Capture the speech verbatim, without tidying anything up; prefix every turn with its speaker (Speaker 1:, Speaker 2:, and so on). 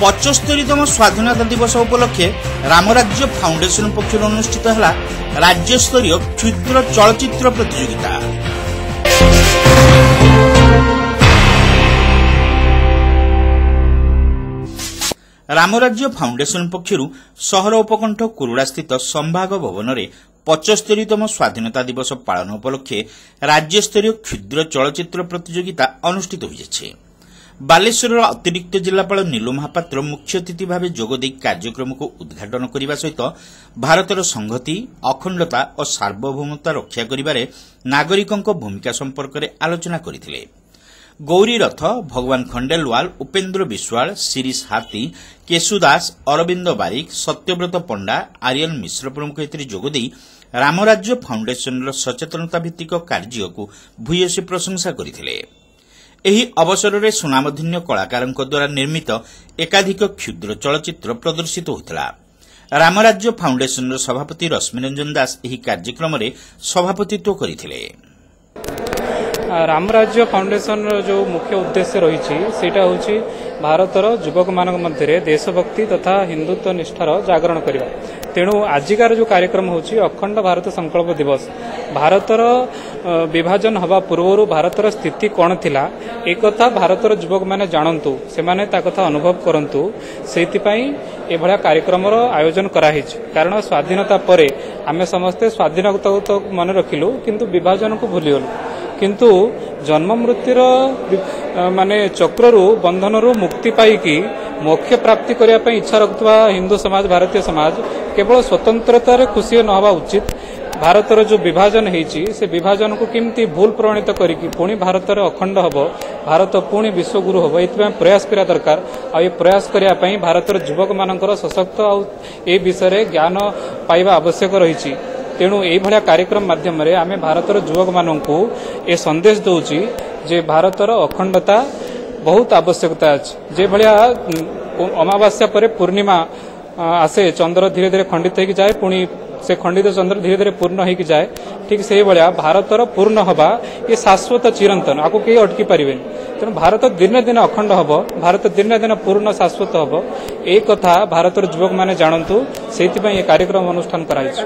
Speaker 1: ପଚସ୍ତରୀତମ ସ୍ୱାଧୀନତା ଦିବସ ଉପଲକ୍ଷେ ରାମରାଜ୍ୟ ଫାଉଣ୍ଡେସନ ପକ୍ଷରୁ ଅନୁଷ୍ଠିତ ହେଲା ରାଜ୍ୟସ୍ତରୀୟ କ୍ଷୁଦ୍ର ଚଳଚ୍ଚିତ୍ର ପ୍ରତିଯୋଗିତା। ରାମରାଜ୍ୟ ଫାଉଣ୍ଡେସନ ପକ୍ଷରୁ ସହର ଉପକଣ୍ଠ କୁରୁଡ଼ାସ୍ଥିତ ସମ୍ଭାଗ ଭବନରେ ପଚସ୍ତରୀତମ ସ୍ୱାଧୀନତା ଦିବସ ପାଳନ ଉପଲକ୍ଷେ ରାଜ୍ୟସ୍ତରୀୟ କ୍ଷୁଦ୍ର ଚଳଚ୍ଚିତ୍ର ପ୍ରତିଯୋଗିତା ଅନୁଷ୍ଠିତ ହୋଇଯାଇଛି। ବାଲେଶ୍ୱରର ଅତିରିକ୍ତ ଜିଲ୍ଲାପାଳ ନୀଲୁ ମହାପାତ୍ର ମୁଖ୍ୟ ଅତିଥି ଭାବେ ଯୋଗଦେଇ କାର୍ଯ୍ୟକ୍ରମକୁ ଉଦ୍ଘାଟନ କରିବା ସହିତ ଭାରତର ସଂହତି, ଅଖଣ୍ଡତା ଓ ସାର୍ବଭୌମତା ରକ୍ଷା କରିବାରେ ନାଗରିକଙ୍କ ଭୂମିକା ସମ୍ପର୍କରେ ଆଲୋଚନା କରିଥିଲେ। ଗୌରୀ ରଥ, ଭଗବାନ ଖଣ୍ଡେଲୱାଲ, ଉପେନ୍ଦ୍ର ବିଶ୍ୱାଳ, ଶିରିଶ ହାତୀ, କେଶୁ ଦାସ, ଅରବିନ୍ଦ ବାରିକ, ସତ୍ୟବ୍ରତ ପଣ୍ଡା, ଆରିୟନ ମିଶ୍ର ପ୍ରମୁଖ ଏଥିରେ ଯୋଗଦେଇ ରାମରାଜ୍ୟ ଫାଉଣ୍ଡେସନର ସଚେତନତା ଭିତ୍ତିକ କାର୍ଯ୍ୟକୁ ଭୂୟସୀ ପ୍ରଶଂସା କରିଥିଲେ। ଏହି ଅବସରରେ ସୁନାମଧନ୍ୟ କଳାକାରଙ୍କ ଦ୍ୱାରା ନିର୍ମିତ ଏକାଧିକ କ୍ଷୁଦ୍ର ଚଳଚ୍ଚିତ୍ର ପ୍ରଦର୍ଶିତ ହୋଇଥିଲା। ରାମରାଜ୍ୟ ଫାଉଣ୍ଡେସନର ସଭାପତି ରଶ୍ମିରଞ୍ଜନ ଦାସ ଏହି କାର୍ଯ୍ୟକ୍ରମରେ ସଭାପତିତ୍ୱ କରିଥିଲେ।
Speaker 2: ରାମରାଜ୍ୟ ଫାଉଣ୍ଡେସନର ଯେଉଁ ମୁଖ୍ୟ ଉଦ୍ଦେଶ୍ୟ ରହିଛି, ସେଇଟା ହେଉଛି ଭାରତର ଯୁବକମାନଙ୍କ ମଧ୍ୟରେ ଦେଶଭକ୍ତି ତଥା ହିନ୍ଦୁତ୍ୱ ନିଷ୍ଠାର ଜାଗରଣ କରିବା। ତେଣୁ ଆଜିକାର ଯେଉଁ କାର୍ଯ୍ୟକ୍ରମ ହେଉଛି ଅଖଣ୍ଡ ଭାରତ ସଂକଳ୍ପ ଦିବସ, ଭାରତର ବିଭାଜନ ହେବା ପୂର୍ବରୁ ଭାରତର ସ୍ଥିତି କ'ଣ ଥିଲା ଏକଥା ଭାରତର ଯୁବକମାନେ ଜାଣନ୍ତୁ, ସେମାନେ ତା କଥା ଅନୁଭବ କରନ୍ତୁ, ସେଇଥିପାଇଁ ଏଭଳିଆ କାର୍ଯ୍ୟକ୍ରମର ଆୟୋଜନ କରାହେଇଛି। କାରଣ ସ୍ୱାଧୀନତା ପରେ ଆମେ ସମସ୍ତେ ସ୍ୱାଧୀନତାକୁ ତ ମନେ ରଖିଲୁ, କିନ୍ତୁ ବିଭାଜନକୁ ଭୁଲିଗଲୁ। କିନ୍ତୁ ଜନ୍ମ ମୃତ୍ୟୁର ମାନେ ଚକ୍ରରୁ, ବନ୍ଧନରୁ ମୁକ୍ତି ପାଇକି ମୋକ୍ଷ ପ୍ରାପ୍ତି କରିବା ପାଇଁ ଇଚ୍ଛା ରଖୁଥିବା ହିନ୍ଦୁ ସମାଜ, ଭାରତୀୟ ସମାଜ କେବଳ ସ୍ୱତନ୍ତ୍ରତାରେ ଖୁସି ନ ହେବା ଉଚିତ। ଭାରତର ଯେଉଁ ବିଭାଜନ ହେଇଛି, ସେ ବିଭାଜନକୁ କେମିତି ଭୁଲ ପ୍ରମାଣିତ କରିକି ପୁଣି ଭାରତରେ ଅଖଣ୍ଡ ହେବ, ଭାରତ ପୁଣି ବିଶ୍ୱଗୁରୁ ହେବ, ଏଥିପାଇଁ ପ୍ରୟାସ କରିବା ଦରକାର। ଆଉ ଏ ପ୍ରୟାସ କରିବା ପାଇଁ ଭାରତର ଯୁବକମାନଙ୍କର ସଶକ୍ତ ଆଉ ଏ ବିଷୟରେ ଜ୍ଞାନ ପାଇବା ଆବଶ୍ୟକ ରହିଛି। ତେଣୁ ଏଇଭଳିଆ କାର୍ଯ୍ୟକ୍ରମ ମାଧ୍ୟମରେ ଆମେ ଭାରତର ଯୁବକମାନଙ୍କୁ ଏ ସନ୍ଦେଶ ଦେଉଛି ଯେ ଭାରତର ଅଖଣ୍ଡତା ବହୁତ ଆବଶ୍ୟକତା ଅଛି। ଯେଭଳିଆ ଅମାବାସ୍ୟା ପରେ ପୂର୍ଣ୍ଣିମା ଆସେ, ଚନ୍ଦ୍ର ଧୀରେ ଧୀରେ ଖଣ୍ଡିତ ହେଇକି ଯାଏ, ପୁଣି ସେ ଖଣ୍ଡିତ ଚନ୍ଦ୍ର ଧୀରେ ଧୀରେ ପୂର୍ଣ୍ଣ ହେଇକି ଯାଏ, ଠିକ୍ ସେଇଭଳିଆ ଭାରତର ପୂର୍ଣ୍ଣ ହେବା ଏ ଶାଶ୍ୱତ, ଚିରନ୍ତନ, ଆକୁ କେହି ଅଟକି ପାରିବେନି। ତେଣୁ ଭାରତ ଦିନେ ଦିନେ ଅଖଣ୍ଡ ହେବ, ଭାରତ ଦିନେ ଦିନେ ପୂର୍ଣ୍ଣ ଶାଶ୍ୱତ ହେବ, ଏ କଥା ଭାରତର ଯୁବକମାନେ ଜାଣନ୍ତୁ, ସେଇଥିପାଇଁ ଏ କାର୍ଯ୍ୟକ୍ରମ ଅନୁଷ୍ଠାନ କରାଯାଇଛି।